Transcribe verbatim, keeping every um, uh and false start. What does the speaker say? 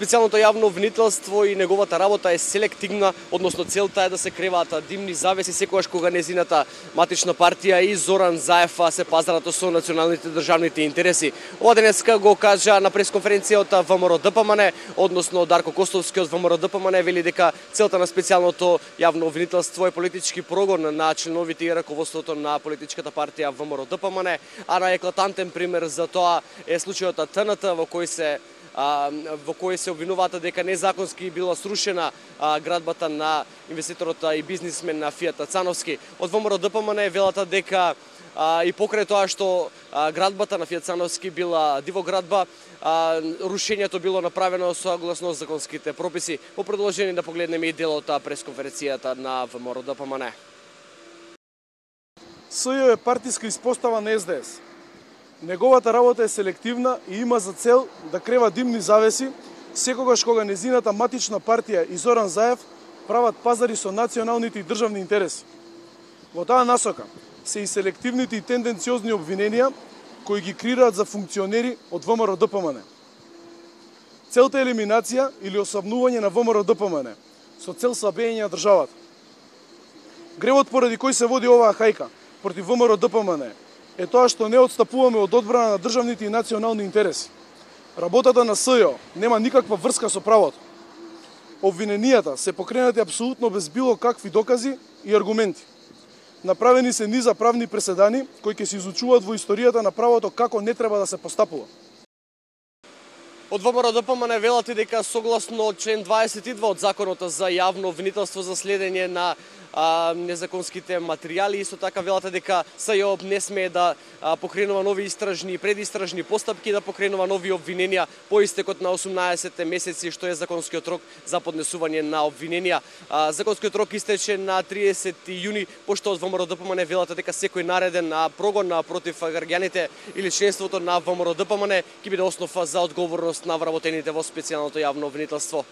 Специјалното јавно обвинителство и неговата работа е селективна, односно целта е да се креваат димни завеси секогаш кога незината матична партија и Зоран Заев се пазарат со националните државните интереси. Ова денеска го кажа на пресконференција од ВМРО-ДПМН, односно Дарко Костовски од ВМРО-ДПМН вели дека целта на специјалното јавно обвинителство е политички прогон на членовите и раководството на политичката партија ВМРО-ДПМН, а на еклатантен пример за тоа е случајот ТНТ во кој се А, во кој се обвинуваат дека незаконски била срушена а, градбата на инвеститорот и бизнисмен на Фијат Цановски. Од ВМРО-ДПМН велата дека а, и покрај тоа што а, градбата на Фијат Цановски била дивоградба, а, рушењето било направено согласно законските прописи. По продолжение да погледнеме и делот пресконференцијата на ВМРО-ДПМН. СЈО е партиска испостава на Ес Де Ес. Неговата работа е селективна и има за цел да крева димни завеси секогаш кога незината матична партија и Зоран Заев прават пазари со националните и државни интереси. Во таа насока се и селективните и тенденциозни обвиненија кои ги креираат за функционери од ВМРО-ДПМН. Целта е елиминација или осамнување на ВМРО-ДПМН со цел слабење на државата. Гревот поради кој се води оваа хајка против ВМРО-ДПМН е тоа што не отстапуваме од одбрана на државните и национални интереси. Работата на СЈО нема никаква врска со правото. Обвиненијата се покренати апсолутно без било какви докази и аргументи. Направени се низа правни преседани кои ќе се изучуваат во историјата на правото како не треба да се постапува. Од ВМРО-ДПМН велат и дека согласно член дваесет и два од Законот за јавно обвинителство за следење на а, незаконските материјали, исто така велат дека СЈО не смее да а, покренува нови истражни и предистражни постапки, да покренува нови обвиненија по истекот на осумнаесет месеци, што е законскиот рок за поднесување на обвиненија. А, законскиот рок истече на триесети јуни, пошто од ВМРО-ДПМН велат дека секој нареден а, прогон а, против граѓаните или членството на ВМРО-ДПМН ќе биде основа за одговорност на вработените во специјалното јавно обвинителство.